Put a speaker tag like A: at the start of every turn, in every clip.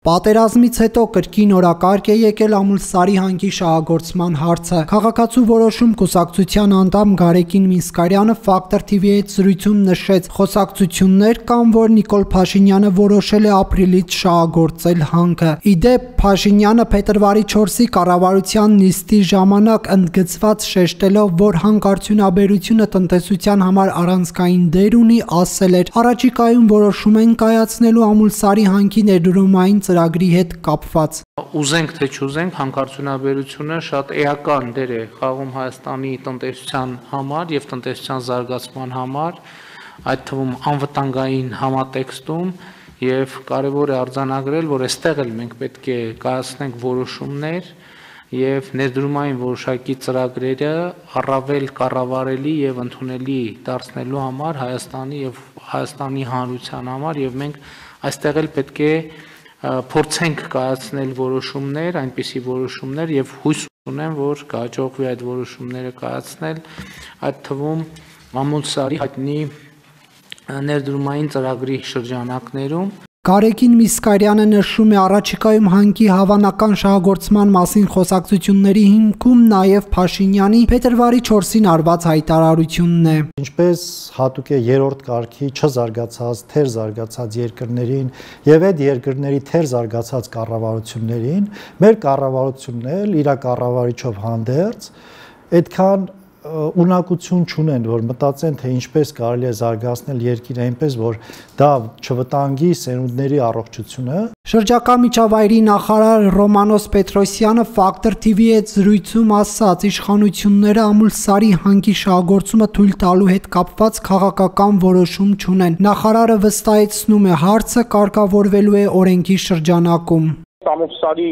A: Պատերազմից հետո կրկին օրակարգ է եկել Ամուլսարի հանքի շահագործման հարցը։ Քաղաքացու որոշում կուսակցության անդամ Գարեգին Միսկարյանը Factor TV-ի հետ զրույցում նշեց, խոսակցություններ կան, որ Նիկոլ Փաշինյանը որոշել է ապրիլից շահագործել հանքը։ Իդեպ Փաշինյանը փետրվարի 4-ի կառավարության նիստի ժամանակ ընդգծված շեշտելով, որ հանքարդյունաբերությունը տնտեսության համար առանցքային դեր ունի, ասել էր. «Առաջիկայում որոշում են կայացնելու Ամուլսարի հանքի ներդրումային ծրագրի հետ կապված»։
B: Ուզենք թե չուզենք, հանքարդյունաբերությունը շատ էական դեր է խաղում Հայաստանի տնտեսության համար եւ տնտեսության զարգացման համար, այդ թվում անվտանգային համատեքստում, եւ կարեւոր է արձանագրել, որ այստեղ էլ մենք պետք է կայացնենք որոշումներ եւ ներդրումային որոշակի ծրագրերը առավել կառավարելի եւ ընդունելի դարձնելու համար Հայաստանի եւ Հայաստանի հանրության համար, եւ մենք այստեղ էլ պետք է փորձենք կայացնել որոշումներ, այնպիսի որոշումներ եւ հույս ունեմ, որ կհաջողվի այդ որոշումները կայացնել, այդ թվում Ամուլսարի հայտնի ներդրումային ծրագրի շրջանակներում։
A: Գարեգին Միսկարյանը նշում է, առաջիկայում հանքի հավանական շահագործման մասին խոսակցությունների հիմքում նաև Փաշինյանի փետրվարի 4-ին արված հայտարարությունն է։
C: Ինչպես հատուկ է երրորդ կարգի չզարգացած, թեր զարգացած երկրներին եւ այդ երկրների թեր զարգացած կառավարություններին, մեր կառավարությունն էլ իր կառավարիչով հանդերձ այդքան ունակություն չունեն, որ մտածեն, թե ինչպես կարելի է զարգացնել երկիրը այնպես, որ դա չվտանգի սերունդների առողջությունը։
A: Շրջակա միջավայրի նախարար Ռոմանոս Պետրոսյանը Factor TV-ի հետ զրույցում ասաց, իշխանությունները Ամուլսարի հանքի շահագործումը թույլ տալու հետ կապված քաղաքական որոշում չունեն։ Նախարարը վստահեցնում է, հարցը կարգավորվելու է օրենքի շրջանակում։
D: Ամուլսարի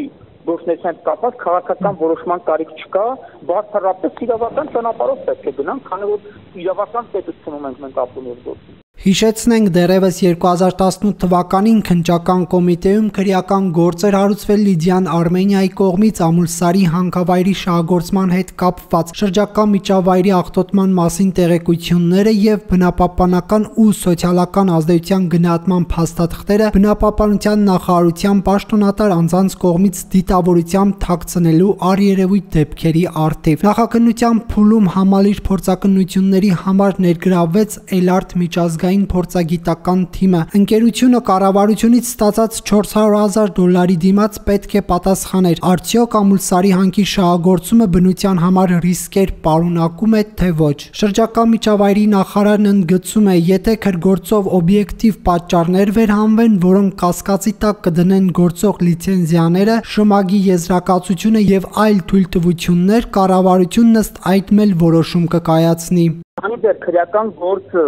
D: գործնեության կապված քաղաքական որոշման կարիք չկա, բացառապես իրավական ճանապարհով պետք է գնանք, քանի որ իրավական պետությունում ենք ապրում եւ գործում։
A: Հիշեցնենք, դեռևս 2018 թվականին քննչական կոմիտեում քրեական գործ էր հարուցվել Լիդիան Արմենիայի կողմից Ամուլսարի հանքավայրի շահագործման հետ կապված շրջակա միջավայրի աղտոտման մասին տեղեկությունները եւ բնապահպանական ու սոցիալական ազդեցության գնահատման փաստաթղթերը բնապահպանության նախարարության պաշտոնատար անձանց կողմից դիտավորությամբ թաքցնելու առերևույթ դեպքերի առթիվ։ Նախաքննության փուլում համալիր փորձակնությունների համար ներգրավվեց Էլարտ միջազգային փորձագիտական թիմը։ Ընկերությունը կառավարությունից ստացած $400,000 դիմաց պետք է պատասխաներ։ Արդյոք Ամուլսարի հանքի շահագործումը բնության համար ռիսկեր պարունակում է, թե ոչ։ Շրջակա միջավայրի նախարարն ընդգծում է, եթե քրգործով օբյեկտիվ պատճառներ վերհանվեն, որոնք կասկածի տակ կդնեն գործող լիցենզիաները, շմագի եզրակացությունը եւ այլ թույլտվություններ, կառավարությունն ըստ այդ էլ որոշում կկայացնի։
D: Քանի դեռ քրեական գործը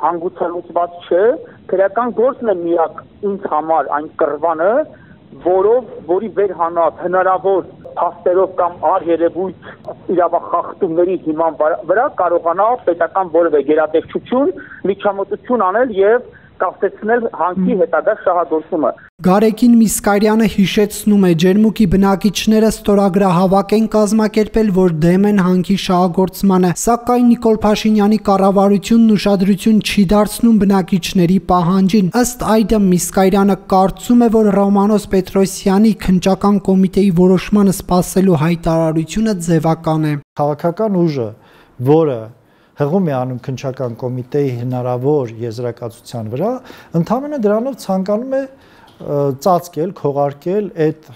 D: հանգուցալուծված չէ, քրեական գործն է միակ ինձ համար այն կռվանը, որի վերհանած հնարավոր փաստերով կամ առերևույթ իրավախախտումների հիման վրա կարողանա պետական որևէ գերատեսչություն միջամտություն անել եւ կասեցնել հանքի հետագա շահագործումը։
A: Գարեգին Միսկարյանը հիշեցնում է, ջերմուկի բնակիչները ստորագրահավաք են կազմակերպել, որ դեմ են հանքի շահագործմանը, սակայն Նիկոլ Փաշինյանի կառավարությունն ուշադրություն չի դարձնում բնակիչների պահանջին։ Ըստ այդմ Միսկարյանը կարծում է, որ Ռոմանոս Պետրոսյանի քննչական կոմիտեի որոշմանը սպասելու հայտարարությունը ձևական է։
C: Քաղաքական ուժը, որը հղում է անում քննչական կոմիտեի հնարավոր եզրակացության վրա, ընդհանրապես դրանով ցանկանում է ծածկել, քողարկել այդ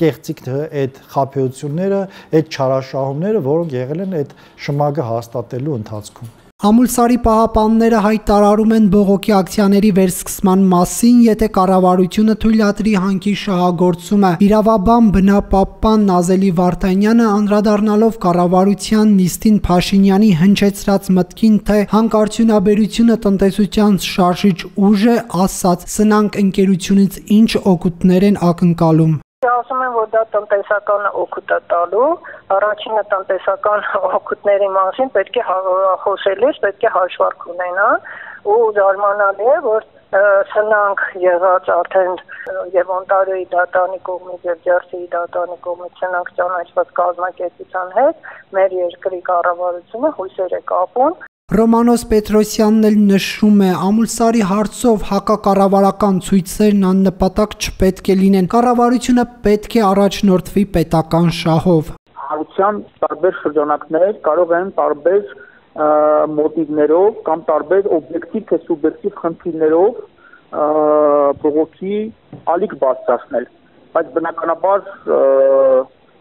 C: կեղծիքը, այդ խաբեությունները, այդ չարաշահումները, որոնք եղել են այդ շմագը հաստատելու ընթացքում։
A: Ամուլսարի պահապանները հայտարարում են բողոքի ակցիաների վերսկսման մասին, եթե կառավարությունը թույլատրի հանքի շահագործումը։ Իրավաբան բնապահպան Նազելի Վարդանյանը անդրադառնալով կառավարության նիստին Փաշինյանի հնչեցրած մտքին, թե հանքարդյունաբերությունը տնտեսության շարժիչ ուժ է, ասաց. «Սնանք ընկերությունից ինչ օգուտներ են ակնկալում»։
E: Ասում են, որ դա տնտեսական օգուտ է տալու, առաջինը տնտեսական օգուտների մասին պետք է խոսելիս, պետք է հաշվարկ ունենալ ու զարմանալի է, որ սնանք եղած արդեն եւ Օնտարիոյի դատարանի կողմից եւ Ջերսիի դատարանի կողմից սնանք ճանաչված կազմակերպության հետ մեր երկրի կառավարությունը հույսեր է կապում
A: Ռոմանոս Պետրոսյանն էլ նշում է, Ամուլսարի հարցով հակակառավարական ցույցերն աննպատակ չպետք է լինեն, կառավարությունը պետք է առաջնորդվի պետական շահով։
D: Հարության տարբեր շրջանակներ կարող են տարբեր մոտիվներով կամ տարբեր օբյեկտիվ թե սուբյեկտիվ խնդիրներով բողոքի ալիք բարձրացնել, բայց բնականաբար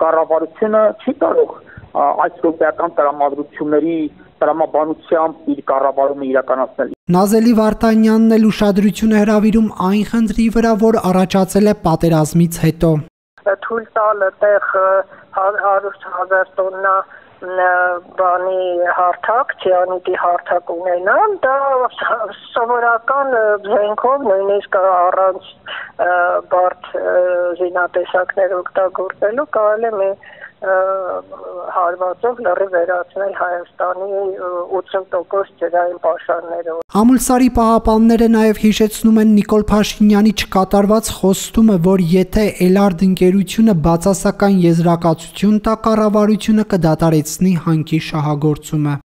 D: կառավարությունը չի կարող այս ռոպեական տրամադրությունների տրամաբանությամբ իր կառավարումը իրականացնել։
A: Նազելի Վարդանյանն էլ ուշադրություն է հրավիրում այն խնդրի վրա, որ առաջացել է պատերազմից հետո։
E: Թույլ տալ այդտեղ 100,000 տոննա բանի հարթակ, ցիանիդի հարթակ ունենան, դա սովորական զենքով նույնիսկ առանց բարդ զինատեսակներ օգտագործելու կարելի է հարվածով լրիվ վերացնել Հայաստանի 80% ջրային պաշարներով։
A: Ամուլսարի պահապանները նաև հիշեցնում են Նիկոլ Փաշինյանի չկատարված խոստումը, որ եթե Էլարդ ընկերությունը բացասական եզրակացություն տա, կառավարությունը կդադարեցնի հանքի շահագործումը։